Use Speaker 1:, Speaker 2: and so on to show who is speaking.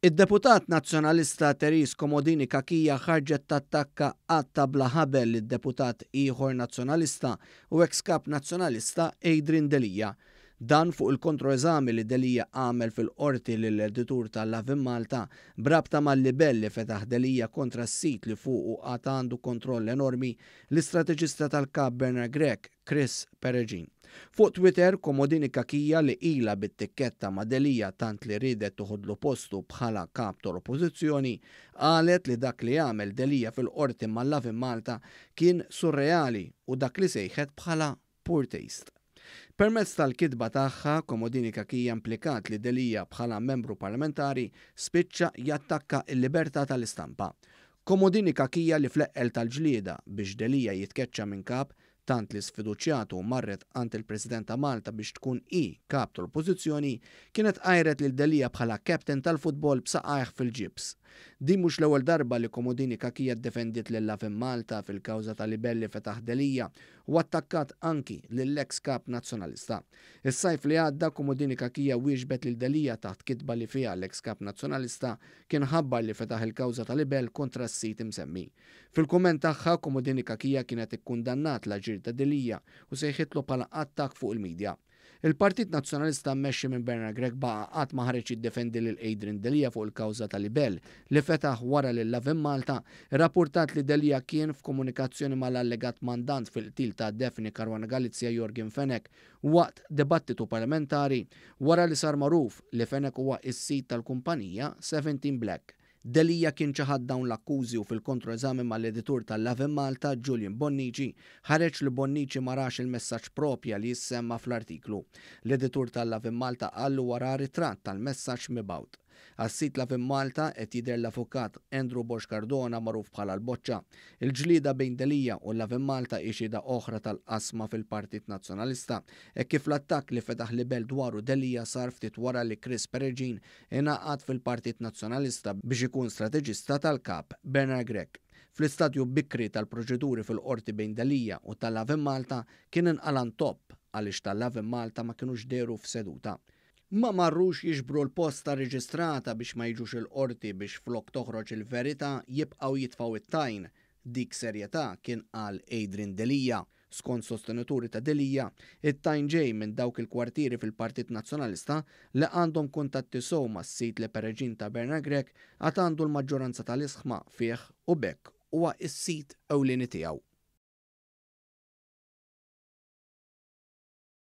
Speaker 1: Id-deputat Nazzjonalista Therese Comodini Cachia ħarġet tattakka qatta bla ħabel lid-deputat ieħor Nazzjonalista u eks Kap Nazzjonalista Adrian Delia. Dan fuq il-kontroeżami li Delia għamel fil-Qorti lill-editur ta' Lovin Malta b'rabta mal-libell li fetaħ Delia kontra s-sit li fuqu għad għandu kontroll enormi, l-istrateġista tal-Kap Bernard Grech, Chris Peregin. Fuq Twitter, Comodini Cachia li ilha bit-tikketta ma' Delia tant li riedet toħodlu postu bħala Kap tal-Oppożizzjoni, qalet li dak li għamel Delia fil-Qorti ma' Lovin Malta kien surreali u dak li sejħet bħala poor taste. Permezz tal-kitba tagħha, Comodini Cachia implikat li Delia bħala membru parlamentari spiċċa jattakka l-libertà tal-istampa. Comodini Cachia li fl-eqqel tal-ġlieda biex Delia jitkeċċa minn Kap tant li sfiduċjatu marret għand il-President ta' Malta biex tkun hi Kap tal-Oppożizzjoni, kienet għajret lil Delia bħala captain tal-futbol b'saqajh fil-ġibs. Din mhux l-ewwel darba li Comodini Cachia ddefendiet lil Lovin Malta fil-kawża ta' libell li fetaħ Delia u attakkat anki lill-eks Kap Nazzjonalista. Is-sajf li għadda Comodini Cachia wieġbet lil Delia taħt kitba li fiha l-eks Kap Nazzjonalista kien ħabbar li fetaħ il-kawża ta' libell kontra s-sit imsemmi. Fil-kumment tagħha, Comodini Cachia kienet ikkundannat l-aġir ta' Delia u sejħitlu bħala attakk fuq il-media. Il-Partit Nazzjonalista mmexxi minn Bernard Grech baqa' qatt ma ħareġ jiddefendi lil Adrian Delia fuq il-kawża ta' libell li fetaħ wara li Lovin Malta rrappurtat li Delia kien f'komunikazzjoni mal-allegat mandant fil-qtil ta' Daphne Caruana Galizia Yorgen Fenech waqt dibattitu parlamentari wara li sar magħruf li Fenech huwa s-sid tal-kumpanija Seventeen Black. Delia kien ċaħad dawn l-akkużi u fil-kontroeżami mal-editur ta' Lovin Malta, Julian Bonnici, ħareġ li Bonnici ma rax il-messaġġ proprja li jissemma fl-artiklu. L-editur ta' Lovin Malta qal li huwa ra ritratt tal-messaġġ mibgħut. Għas-sit Lovin Malta qed jidher l-avukat Andrew Borg Cardona magħruf bħala l-Boċċa. Il-ġlieda bejn Delia u Lovin Malta hi xhieda oħra tal-qasma fil-Partit Nazzjonalista hekk kif l-attakk li fetaħ libell dwaru Delia sar ftit wara li Chris Peregin ingħaqad fil-Partit Nazzjonalista biex ikun strateġista tal-Kap Bernard Grech. Fl-istadju bikri tal-proċeduri fil-Qorti bejn Delia u ta' Lovin Malta kien inqala' ntopp għaliex ta' Lovin Malta ma kinux dehru f'seduta. Ma marrux jiġbru l-posta reġistrata biex ma jiġux il-Qorti biex flok toħroġ il-verità jibqgħu jitfgħu it-tajn. Dik serjetà kien qal Adrian Delia. Skont sostenituri ta' Delia, it-tajn ġej minn dawk il-kwartieri fil-Partit Nazzjonalista li għandhom kuntatti sew mas-sit li Peregin ta' Bernard Grech għad għandu l-maġġoranza tal-isħma fih u b'hekk huwa s-sit ewlieni tiegħu.